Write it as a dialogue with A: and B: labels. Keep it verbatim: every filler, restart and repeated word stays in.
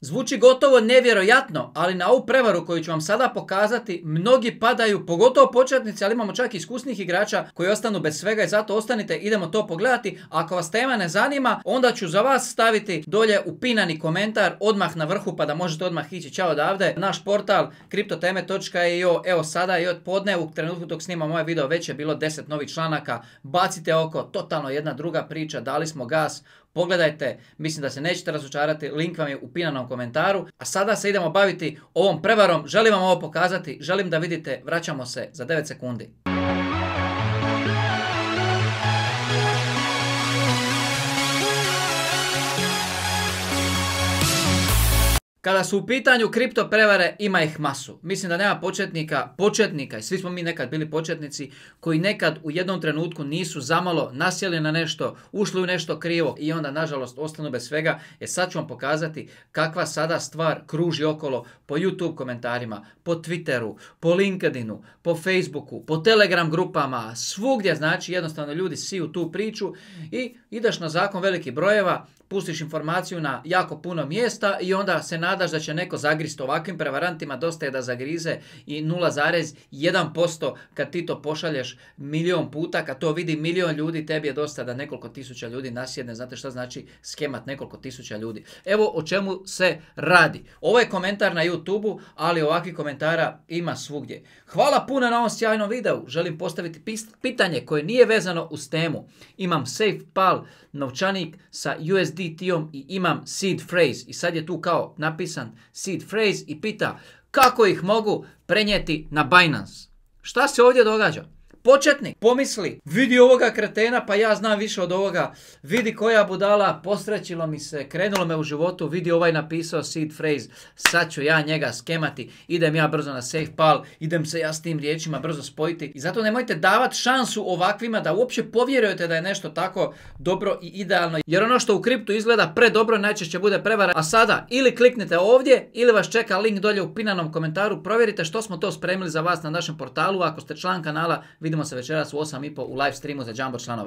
A: Zvuči gotovo nevjerojatno, ali na ovu prevaru koju ću vam sada pokazati, mnogi padaju, pogotovo početnici, ali imamo čak i iskusnih igrača koji ostanu bez svega i zato ostanite, idemo to pogledati. Ako vas tema ne zanima, onda ću za vas staviti dolje upinani komentar odmah na vrhu pa da možete odmah ići ćao odavde. Naš portal kriptoteme točka i o, evo sada i od podne, u trenutku dok snimam ovaj video već je bilo deset novih članaka, bacite oko, totalno jedna druga priča, dali smo gas. Pogledajte, mislim da se nećete razočarati, link vam je u pinanom komentaru. A sada se idemo baviti ovom prevarom, želim vam ovo pokazati, želim da vidite, vraćamo se za devet sekundi. Kada su u pitanju kripto prevare, ima ih masu. Mislim da nema početnika, početnika, i svi smo mi nekad bili početnici, koji nekad u jednom trenutku nisu zamalo nasjeli na nešto, ušli u nešto krivo i onda nažalost ostanu bez svega. E sad ću vam pokazati kakva sada stvar kruži okolo po YouTube komentarima, po Twitteru, po LinkedInu, po Facebooku, po Telegram grupama, svugdje, znači jednostavno ljudi siju tu priču i ideš na zakon velikih brojeva, pustiš informaciju na jako puno mjesta i onda se nadaš da će neko zagrist. Ovakvim prevarantima dosta je da zagrize i nula zarez jedan posto kad ti to pošalješ milion puta, kad to vidi milion ljudi, tebi je dosta da nekoliko tisuća ljudi nasjedne. Znate šta znači skemat nekoliko tisuća ljudi? Evo o čemu se radi. Ovo je komentar na YouTubeu, ali ovakvih komentara ima svugdje. Hvala puno na ovom sjajnom videu. Želim postaviti pitanje koje nije vezano uz temu. Imam SafePal novčanik sa U S D T-om i imam seed phrase i sad je tu kao napisan seed phrase i pita kako ih mogu prenijeti na Binance. Šta se ovdje događa? Početnik pomisli, vidi ovoga kretena, pa ja znam više od ovoga, vidi koja budala, posrećilo mi se, krenulo me u životu, vidi ovaj napisao seed phrase, sad ću ja njega skemati, idem ja brzo na SafePal, idem se ja s tim riječima brzo spojiti. I zato nemojte davati šansu ovakvima da uopće povjerujete da je nešto tako dobro i idealno, jer ono što u kriptu izgleda predobro najčešće bude prevara. A sada ili kliknite ovdje ili vas čeka link dolje u pinanom komentaru, provjerite što smo to spremili za vas na našem portalu. Ako ste član kanala, vidimo se večeras u osam i pol u live streamu za Jumbo članove.